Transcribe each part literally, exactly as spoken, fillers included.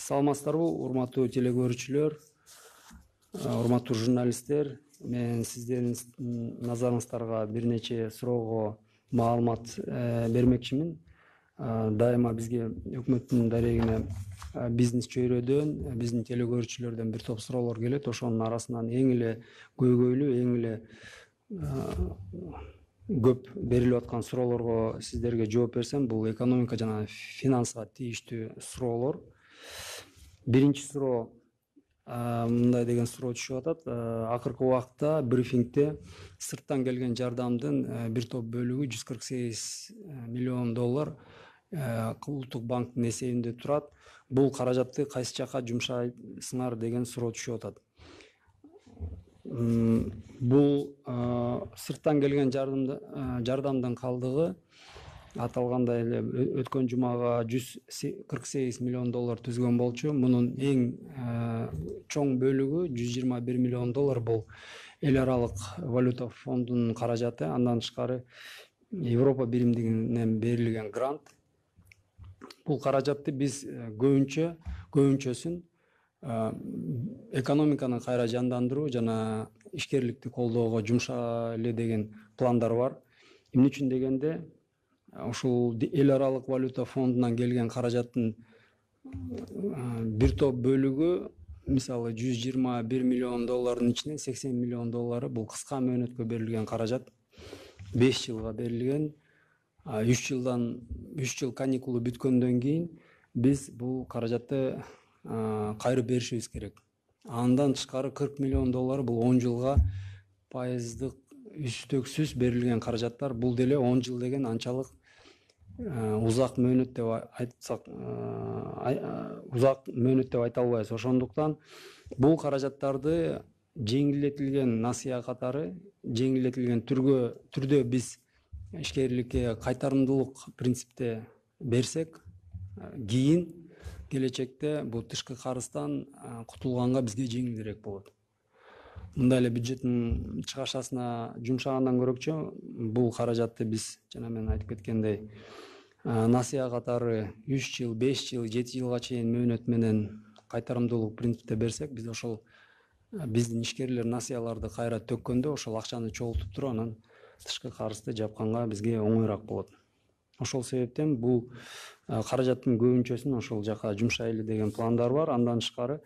Саламатсыздарбы, урматтуу теле урматтуу журналисттер. Мен сиздердин назарыңыздарга бир нече суроого маалымат бермекчимин. Дайыма бизге өкмөттүн дарегине бизнес чөйрөдөн, биздин теле көрүүчүлөрдөн бир топ суроолор келет. Ошонун арасынан эң эле көйгөйлүү, эң эле көп берилип аткан суроолорго сиздерге жооп берсем, бул экономика жана финансыга тийиштүү суроолор. Биринчи суроо мындай деген суроо түшүп атат. Акыркы убакта брифингде сырттан келген жардамдын бир топ бөлүгү жүз кырк сегиз миллион доллар улуттук банктын эсебинде турат. Бул каражатты кайсы жака жумшайсыңар деген суроо түшүп атат. Бул сырттан келген жардамдын калдыгы аталгандай эле өткөн жумага жүз кырк сегиз миллион доллар түзгөн болчу. Мунун эң чоң бөлүгү жүз жыйырма бир миллион доллар бул эл аралык валюта фондунун каражаты. Андан тышкары Европа биримдигинен берилген грант. Бул каражатты биз көбүнчө көбүнчөсүн экономиканы кайра жандандыруу жана ишкерликти колдоого жумшайлы деген пландар бар. Эмне үчүн дегенде, ушул эл аралык валюта фондунан келген каражаттын бир топ бөлүгү, мисалы жүз жыйырма бир миллион доллардын ичинен сексен миллион доллары бул кыска мөөнөткө берилген каражат. беш жылга берилген. үч жылдан үч жыл каникулу бүткөндөн кийин биз бул каражатты кайрып беришибиз керек. Андан тышкары кырк миллион доллары бул он жылга пайыздык үстөксүз берилген каражаттар. Бул деле он жыл деген анчалык узак мөөнөт деп айтсак, узак мөөнөт деп айта албайбыз. Ошондуктан бул каражаттарды жеңилдетилген насыя катары, жеңилдетилген түргө түрдө биз ишкерликке кайтарымдуулук принципте берсек, кийин келечекте бул тышкы карыздан кутулганга бизге жеңилирээк болот. Мындай эле бюджеттин чыгашасына жумшагандан көрөкчө, бул каражатты биз жана мен айтып кеткендей насыя катары үч жыл, беш жыл, жети жылга чейин мөөнөт менен кайтарымдуулук принципте берсек, биз ошол биздин ишкерлер насыяларды кайра төккөндө ошол акчаны чогултуп туруп, анан тышкы карызды жапканга бизге оңоюраак болот. Ошол себептен бул каражаттын көбүнчөсүн ошол жака жумшайлы деген пландар бар. Андан тышкары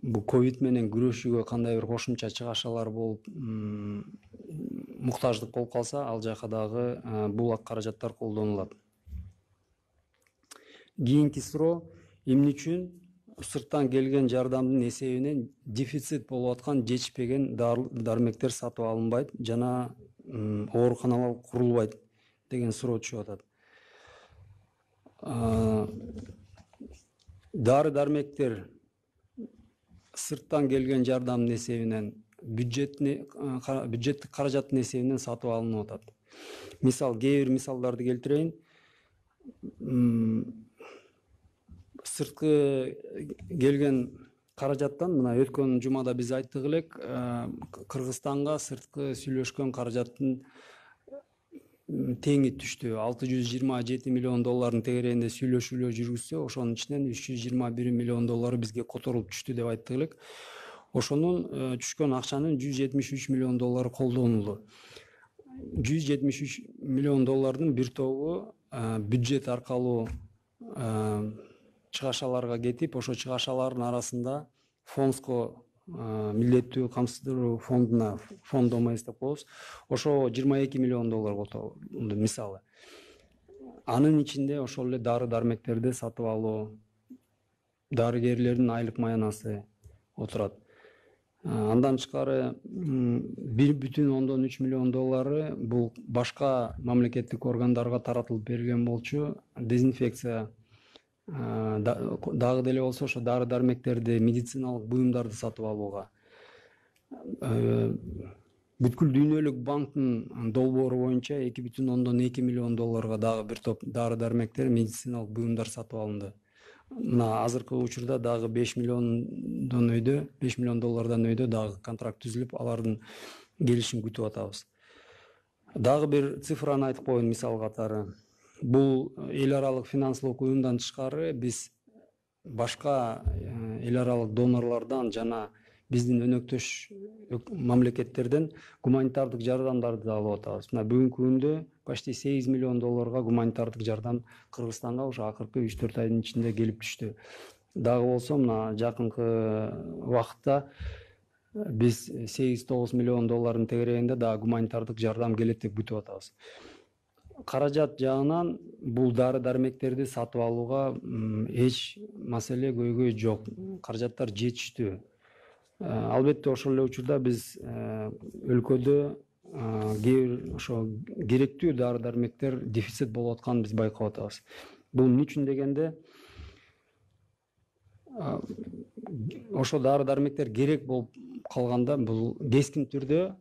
бул ковид менен күрөшүүгө кандай бир кошумча чыгашалар болуп, муктаждык болуп калса, ал жака дагы бул каражаттар колдонулат. Кийинки суроо: эмне үчүн сырттан келген жардамдын эсебинен дефицит болуп аткан жетишпеген дармектер сатып алынбайт жана ооруканалар курулбайт деген суроо түшүп атат. Дары дармектер сырттан келген жардамдын эсебинен бюджеттик каражаттын эсебинен сатып алынып атат. Мисал, кээ бир мисалдарды келтирейин. Сырткы келген каражаттан, мына өткөн жумада биз айттык элек, Кыргызстанга сырткы сүйлөшкөн каражаттын теңи түштү. алты жүз жыйырма жети миллион доллардын тегерегинде сүйлөшүүлөр жүргүзсө, ошонун ичинен үч жүз жыйырма бир миллион доллары бизге которулуп түштү деп айттык элек. Ошонун түшкөн акчанын жүз жетимиш үч миллион доллары колдонулду. жүз жетимиш үч миллион доллардын бир тобу бюджет аркылуу чыгашаларга кетип, ошо чыгашалардын арасында фондско милдеттүү камсыздыруу фондуна, фонд ОМС деп коебуз, ошо жыйырма эки миллион доллар которулду мисалы. Анын ичинде ошол эле дары дармектерди сатып алуу, дарыгерлердин айлык маянасы отурат. Андан тышкары бир бүтүн ондон үч миллион доллары бул башка мамлекеттик органдарга таратылып берилген болчу. Дезинфекция дагы деле болсо ошо дары дармектерди, медициналык буюмдарды сатып алууга. Бүткүл дүйнөлүк банктын долбоору боюнча эки бүтүн ондон эки миллион долларга дагы бир топ дары дармектер, медициналык буюмдар сатып алынды. Мына азыркы учурда дагы беш миллиондон өйдө, беш миллион доллардан өйдө дагы контракт түзүлүп, алардын келишин күтүп атабыз. Дагы бир цифраны айтып коеюн мисал катары. Бул эл аралык финансылык уюмдан тышкары биз башка эл аралык донорлордон жана биздин өнөктөш мамлекеттерден гуманитардык жардамдарды да алып атабыз. Мына бүгүнкү күндө почти сегиз миллион долларга гуманитардык жардам Кыргызстанга ушу акыркы үч төрт айдын ичинде келип түштү. Дагы болсо мына жакынкы убакытта биз сегиз тогуз миллион доллардын тегерегинде дагы гуманитардык жардам келет деп күтүп атабыз. Каражат жагынан бул дары дармектерди сатып алууга эч маселе көйгөй жок. Каражаттар жетиштүү. Албетте ошол эле учурда биз өлкөдө кээ бир ошо керектүү дары дармектер дефицит болуп атканын биз байкап атабыз. Бул эмне үчүн дегенде ошо дары дармектер керек болуп калганда бул кескин түрдө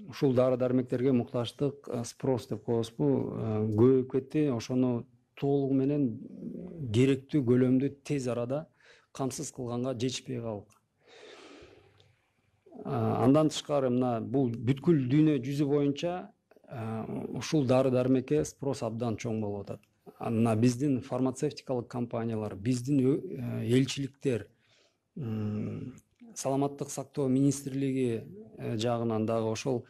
ушул дары дармектерге муктаждык спрос деп коебузбу көбөйүп кетти. Ошону толугу менен керектүү көлөмдү тез арада камсыз кылганга жетишпей калдык. Андан тышкары мына бул бүткүл дүйнө жүзү боюнча ушул дары дармекке спрос абдан чоң болуп атат. Мына биздин фармацевтикалык компаниялар, биздин элчиликтер, саламаттык сактоо министрлиги жагынан дагы ошол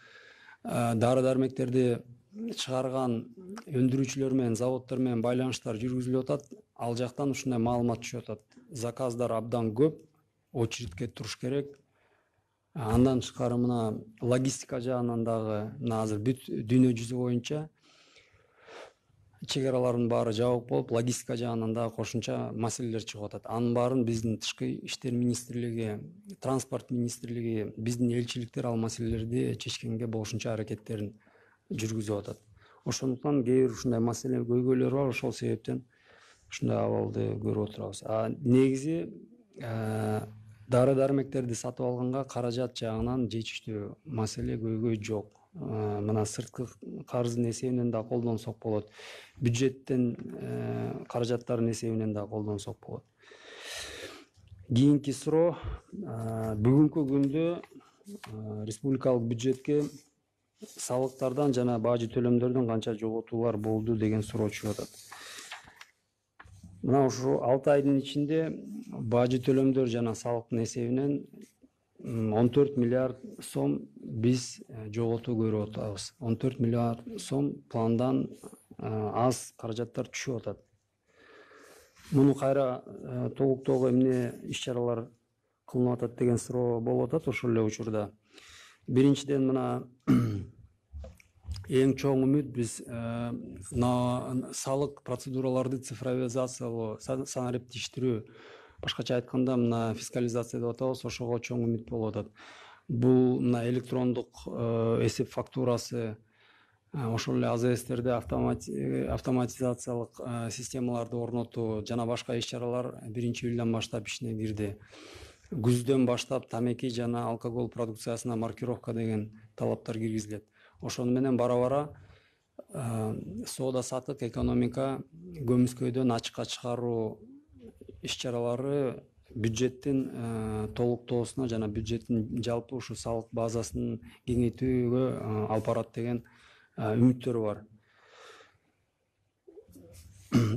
дары дармектерди чыгарган өндүрүүчүлөр менен, заводдор менен байланыштар жүргүзүлүп атат. Ал жактан ушундай маалымат түшүп атат. Заказдар абдан көп, очередке туруш керек. Андан тышкары мына логистика жагынан дагы мына азыр бүт дүйнө жүзү боюнча чек аралардын баары жабык болуп, логистика жагынан дагы кошумча маселелер чыгып атат. Анын баарын биздин тышкы иштер министрлиги, транспорт министрлиги, биздин элчиликтер ал маселелерди чечкенге болушунча аракеттерин жүргүзүп атат. Ошондуктан кээ бир ушундай маселе көйгөйлөр бар, ошол себептен ушундай абалды көрүп отурабыз. А негизи дары дармектерди сатып алганга каражат жагынан жетиштүү маселе көйгөй жок. Мына сырткы карыздын эсебинен да колдонсок болот. Бюджеттен каражаттардын эсебинен да колдонсок болот. Кийинки суроо бүгүнкү күндө республикалык бюджетке салыктардан жана бажы төлөмдөрдөн канча жоготуулар болду деген суроо чыгып атат. Мына ушу алты айдын ичинде бажы төлөмдөр жана салыктын эсебинен он төрт миллиард сом биз жоготуу көрүп атабыз. он төрт миллиард сом пландан аз каражаттар түшүп атат. Муну кайра толуктоого эмне иш-чаралар кылынып атат деген суроо болуп атат ошол эле учурда. Биринчиден мына эң чоң үмүт биз салык процедураларды цифровизациялоо, санариптештирүү, башкача айтканда мына фискализация деп атабыз, ошого чоң үмүт болуп атат. Бул мына электрондук эсеп фактурасы, ошол эле АЗСтерде автоматизациялык системаларды орнотуу жана башка иш-чаралар биринчи июлдан баштап ишине кирди. Күздөн баштап тамеки жана алкоголь продукциясына маркировка деген талаптар киргизилет. Ошону менен бара-бара соода сатык экономика көмүскөйдөн ачыкка чыгаруу иш-чаралары бюджеттин толуктоосуна жана бюджеттин жалпы ушу салык базасын кеңейтүүгө алып барат деген үмүттөр бар.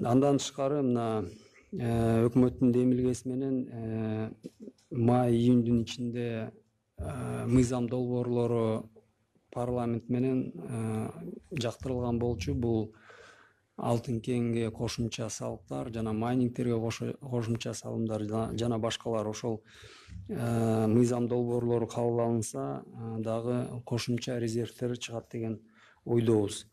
Андан тышкары мына өкмөттүн демилгеси менен май-июндун ичинде мыйзам долбоорлору парламент менен жактырылган болчу. Бул алтын кенге кошумча салыктар жана майнингтерге кошумча салымдар жана башкалар. Ошол мыйзам долбоорлору кабыл алынса дагы кошумча резервтер чыгат деген ойдобуз.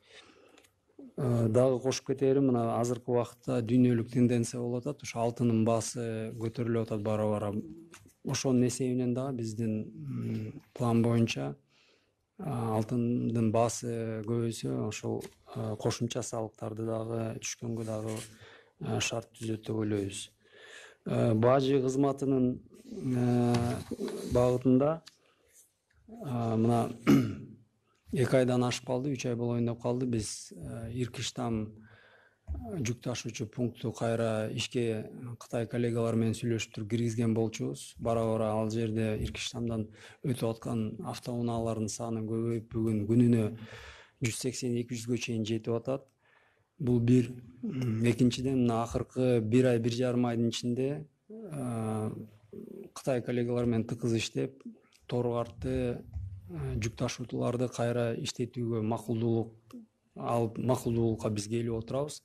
Дагы кошуп кете берем, мына азыркы убакытта дүйнөлүк тенденция болуп атат. Ошо алтындын баасы көтөрүлүп атат бара-бара. Ошонун эсебинен дагы биздин план боюнча алтындын баасы көбөйсө, ошол кошумча салыктарды дагы түшкөнгө дагы шарт түзөт деп ойлойбуз. Бажы кызматынын багытында мына эки айдан ашып калды, үч ай болоюн деп калды. Биз Иркыштам жүк ташуучу пункту кайра ишке Кытай коллегалар менен сүйлөшүп туруп киргизген болчубуз. Бара-бара ал жерде Иркыштамдан өтүп аткан автоунаалардын саны көбөйүп, бүгүн күнүнө жүз сексен эки жүзгө чейин жетип атат. Бул бир. Экинчиден, мына акыркы бир ай, бир жарым айдын ичинде Кытай коллегалар менен тыкыз иштеп, тору-картты, жүк ташуутуларды кайра иштетүүгө макулдуулук алып, макулдуулукка биз келип отурабыз.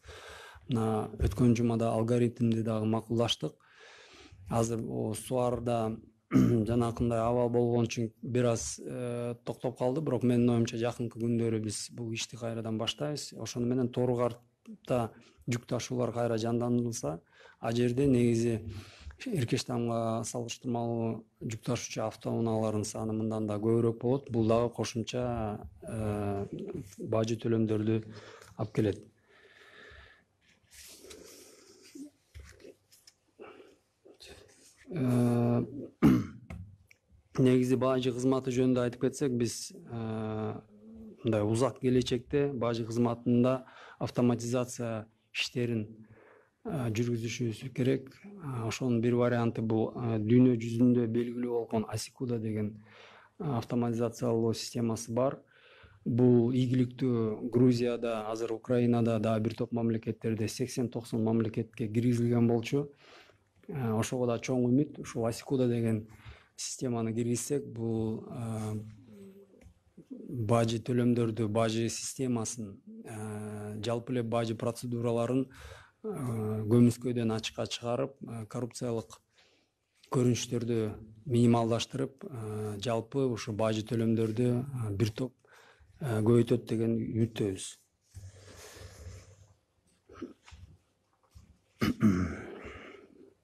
Мына өткөн жумада алгоритмди дагы макулдаштык. Азыр сууарда жанакындай абал болгон үчүн бир аз токтоп калды, бирок менин оюмча жакынкы күндөрү биз бул ишти кайрадан баштайбыз. Ошону менен тору-картта жүк ташуулар кайра жандандырылса, а жерде негизи Эркештамга салыштырмалуу жүк ташуучу автоунаалардын саны мындан да көбүрөөк болот. Бул дагы кошумча бажы төлөмдөрдү алып келет. Негизи бажы кызматы жөнүндө айтып кетсек, биз мындай узак келечекте бажы кызматында автоматизация иштерин жүргүзүшүбүз керек. Ошонун бир варианты бул дүйнө жүзүндө белгилүү болгон Асикуда деген автоматизациялоо системасы бар. Бул ийгиликтүү Грузияда, азыр Украинада дагы бир топ мамлекеттерде сексен токсон мамлекетке киргизилген болчу. Ошого да чоң үмүт. Ушул Асикуда деген системаны киргизсек, бул бажы төлөмдөрдү, бажы системасын, жалпы эле бажы процедураларын көмүскөдөн ачыкка чыгарып, коррупциялык көрүнүштөрдү минималдаштырып, жалпы ушу бажы төлөмдөрдү бир топ көбөйтөт деген үмүттөбүз.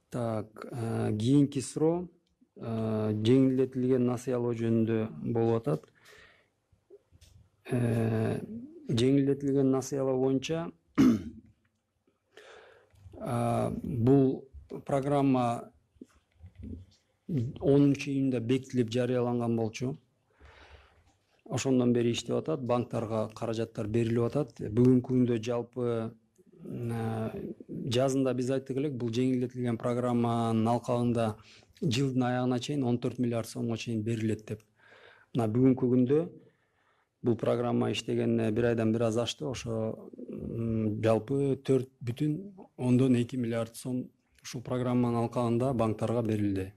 Так, кийинки суроо жеңилдетилген насыялоо жөнүндө болуп атат. Жеңилдетилген насыялоо боюнча бул программа онунчу июнда бекитилип жарыяланган болчу. Ошондон бери иштеп атат, банктарга каражаттар берилип атат. Бүгүнкү күндө жалпы жазында биз айттык элек, бул жеңилдетилген программанын алкагында жылдын аягына чейин он төрт миллиард сомго чейин берилет деп. Мына бүгүнкү күндө бул программа иштегенине бир айдан бир аз ашты. Ошо жалпы төрт бүтүн ондон эки миллиард сом ушул программанын алкагында банктарга берилди.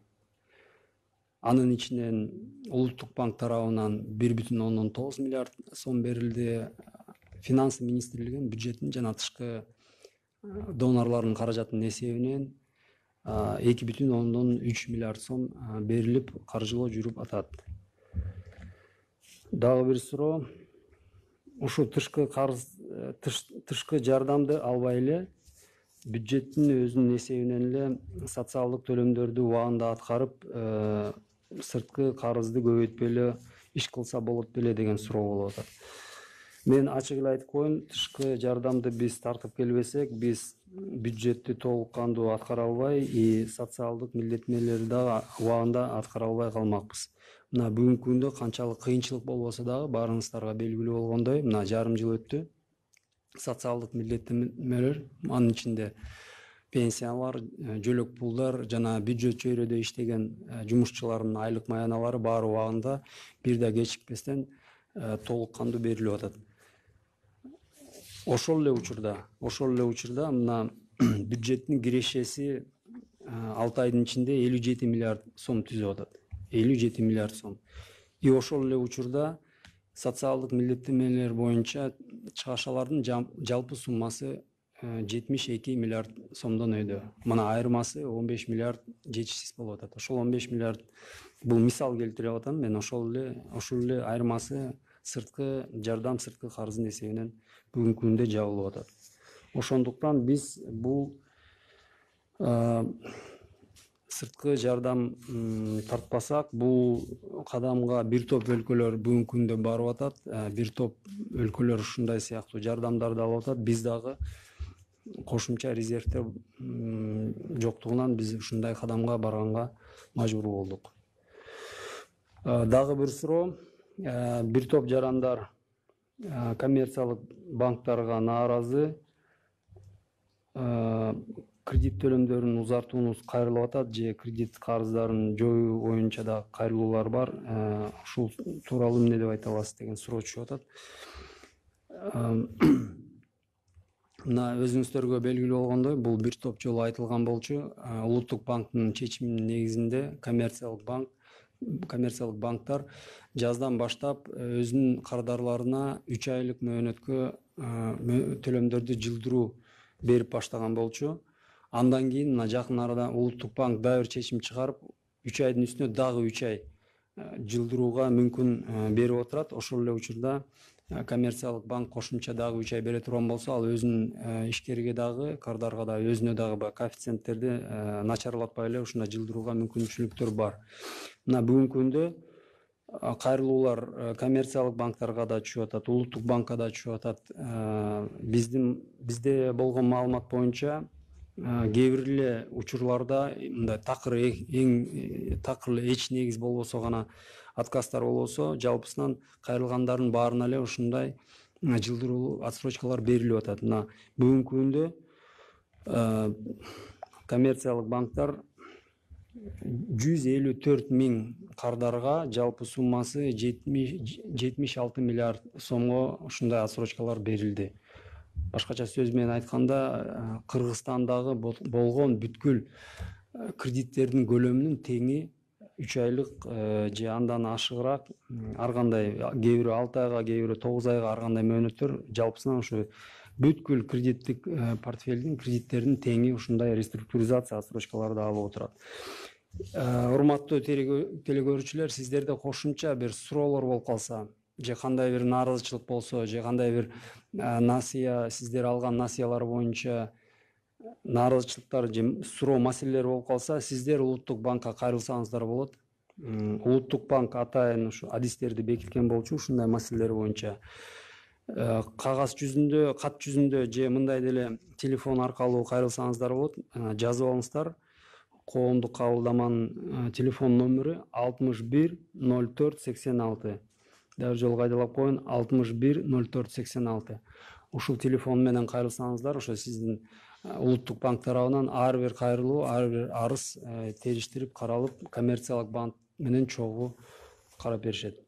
Анын ичинен Улуттук банк тарабынан бир бүтүн ондон тогуз миллиард сом берилди. Финансы министрлигинин бюджетин жана тышкы донорлордун каражатынын эсебинен эки бүтүн ондон үч миллиард сом берилип, каржылоо жүрүп атат. Дагы бир суроо. Ушу тышкы карыз, тышкы жардамды албай эле бюджеттин өзүнүн эсебинен эле социалдык төлөмдөрдү убагында аткарып, сырткы карызды көбөйтпөй эле иш кылса болот беле деген суроо болуп атат. Мен ачык эле айтып коеюн, тышкы жардамды биз тартып келбесек, биз бюджетти толук кандуу аткара албай, и социалдык милдеттенмелерди дагы убагында аткара албай калмакпыз. Мына бүгүнкү күндө канчалык кыйынчылык болбосо дагы баарыңыздарга белгилүү болгондой, мына жарым жыл өттү. Социалдык милдеттенмелер, анын ичинде пенсиялар, жөлөк пулдар жана бюджет чөйрөдө иштеген жумушчулардын айлык маяналары баары убагында бир да кечикпестен толук кандуу берилип атат. Ошол эле учурда, ошол эле учурда мына бюджеттин кирешеси алты айдын ичинде элүү жети миллиард сом түзүп атат. элүү жети миллиард сом. И ошол эле учурда социалдык милдеттенмелер боюнча чыгашалардын жалпы суммасы жетимиш эки миллиард сомдон өйдө. Мына айырмасы он беш миллиард жетишсиз болуп атат. Ошол он беш миллиард бул мисал келтирип атам мен, ошол эле ошол эле айырмасы сырткы жардам, сырткы карыздын эсебинен бүгүнкү күндө жабылып атат. Ошондуктан биз бул сырткы жардам тартпасак, бул кадамга бир топ өлкөлөр бүгүнкү күндө барып атат. Бир топ өлкөлөр ушундай сыяктуу жардамдарды алып атат. Биз дагы кошумча резервдер жоктугунан биз ушундай кадамга барганга мажбур болдук. Дагы бир суроо. Бир топ жарандар коммерциялык банктарга нааразы. Кредит төлөмдөрүн узартуунуз кайрылып атат же кредит карыздарын жоюу боюнча да кайрылуулар бар. Ушул тууралуу эмне деп айта аласыз деген суроо түшүп атат. Мына өзүңүздөргө белгилүү болгондой, бул бир топ жолу айтылган болчу. Улуттук банктын чечиминин негизинде коммерциялык банк коммерциялык банктар жаздан баштап өзүнүн кардарларына үч айлык мөөнөткө төлөмдөрдү жылдыруу берип баштаган болчу. Андан кийин мына жакын арада Улуттук банк дагы бир чечим чыгарып, үч айдын үстүнө дагы үч ай жылдырууга мүмкүн берип отурат. Ошол эле учурда коммерциялык банк кошумча дагы үч ай бере турган болсо, ал өзүнүн ишкерге дагы, кардарга да, өзүнө дагы баягы коэффициенттерди начарлатпай эле ушундай жылдырууга мүмкүнчүлүктөр бар. Мына бүгүнкү күндө кайрылуулар коммерциялык банктарга да түшүп атат, Улуттук банкка да түшүп атат. Биздин бизде болгон маалымат боюнча кээ бир эле учурларда мындай такыр эң такыр эле эч негиз болбосо гана отказдар болбосо, жалпысынан кайрылгандардын баарына эле ушундай жылдыруу отсрочкалар берилип атат. Мына бүгүнкү күндө коммерциялык банктар жүз элүү төрт миң кардарга жалпы суммасы жетимиш алты миллиард сомго ушундай отсрочкалар берилди. Башкача сөз менен айтканда, Кыргызстандагы болгон бүткүл кредиттердин көлөмүнүн теңи үч айлык же андан ашыгыраак, ар кандай, кээ бири алты айга, кээ бири тогуз айга, ар кандай мөөнөттөр жалпысынан ушу бүткүл кредиттик портфелдин, кредиттердин теңи ушундай реструктуризация отсрочкаларды алып отурат. Урматтуу телекөрүүчүлөр, сиздерде кошумча бир суроолор болуп калса, же кандай бир нааразычылык болсо, же кандай бир насыя, сиздер алган насыялар боюнча нааразычылыктар же суроо маселелер болуп калса, сиздер Улуттук банкка кайрылсаңыздар болот. Улуттук банк атайын ушу адистерди бекиткен болчу ушундай маселелер боюнча. Кагаз жүзүндө, кат жүзүндө же мындай деле телефон аркылуу кайрылсаңыздар болот. Жазып алыңыздар. Коомдук кабылдаманын телефон номери алтымыш бир ноль төрт сексен алты. Дагы жолу кайдалап коеюн, алтымыш бир ноль төрт сексен алты. Ушул телефон менен кайрылсаңыздар, ошо сиздин Улуттук банк тарабынан ар бир кайрылуу, ар бир арыз териштирип каралып, коммерциялык банк менен чогуу карап беришет.